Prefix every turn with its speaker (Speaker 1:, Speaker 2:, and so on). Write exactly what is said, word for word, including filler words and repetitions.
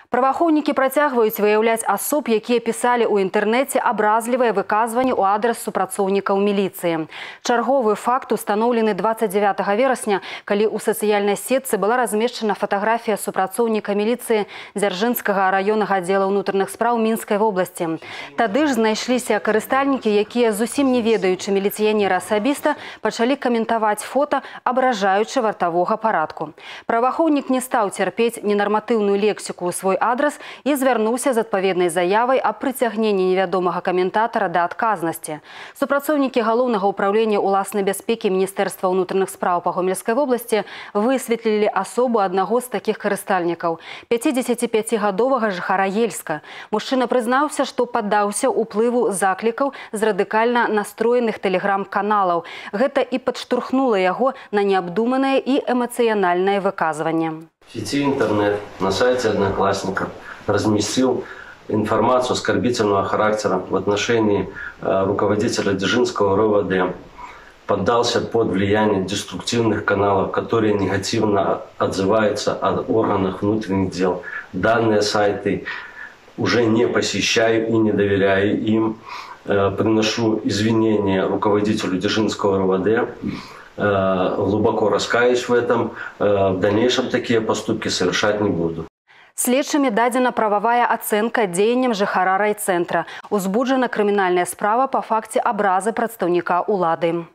Speaker 1: Праваахоўнікі працягваюць выяўляць асоб, якія пісалі ў інтэрнэце абразлівыя выказванні ў адрас супрацоўнікаў міліцыі. Чарговы факт устаноўлены дваццаць дзявятага верасня, калі ў сацыяльнай сетцы была размешчана фатаграфія супрацоўніка міліцыі Дзяржынскага раённага аддзела ўнутраных спраў Мінскай вобласці. Тады ж знайшліся карыстальнікі, якія, зусім не ведаючы міліцыянера асабіста, пачалі каментаваць фота, абражаючы вартавога парадку. Праваахоўнік не стаў цярпець ненарматыўную лексіку ў свой адрас і звярнуўся з адпаведнай заявай аб прыцягненні невядомага каментатара да адказнасці. Супрацоўнікі галоўнага ўпраўлення ўласнай бяспекі Міністэрства ўнутраных спраў па Гомельскай вобласці высветлілі асобу аднаго з такіх карыстальнікаў – пяцідзесяціпяцігадовага жыхара Ельска. Мужчына прызнаўся, што паддаўся ўплыву заклікаў з радыкальна настроеных тэлеграм-каналаў. Гэта і падштурхнула яго на неабдуманае і эмацыянальнае выказванне.
Speaker 2: В сети интернет на сайте Одноклассников разместил информацию оскорбительного характера в отношении э, руководителя Дзержинского РОВД. Поддался под влияние деструктивных каналов, которые негативно отзываются о органах внутренних дел. Данные сайты уже не посещаю и не доверяю им. Э, приношу извинения руководителю Дзержинского РОВД. Глубоко раскаюсь в этом. В дальнейшем такие поступки совершать не буду.
Speaker 1: Следчымі дадзена прававая ацэнка дзеянням жыхара райцэнтра. Узбуджана крымінальная справа па факце абразы прадстаўніка ўлады.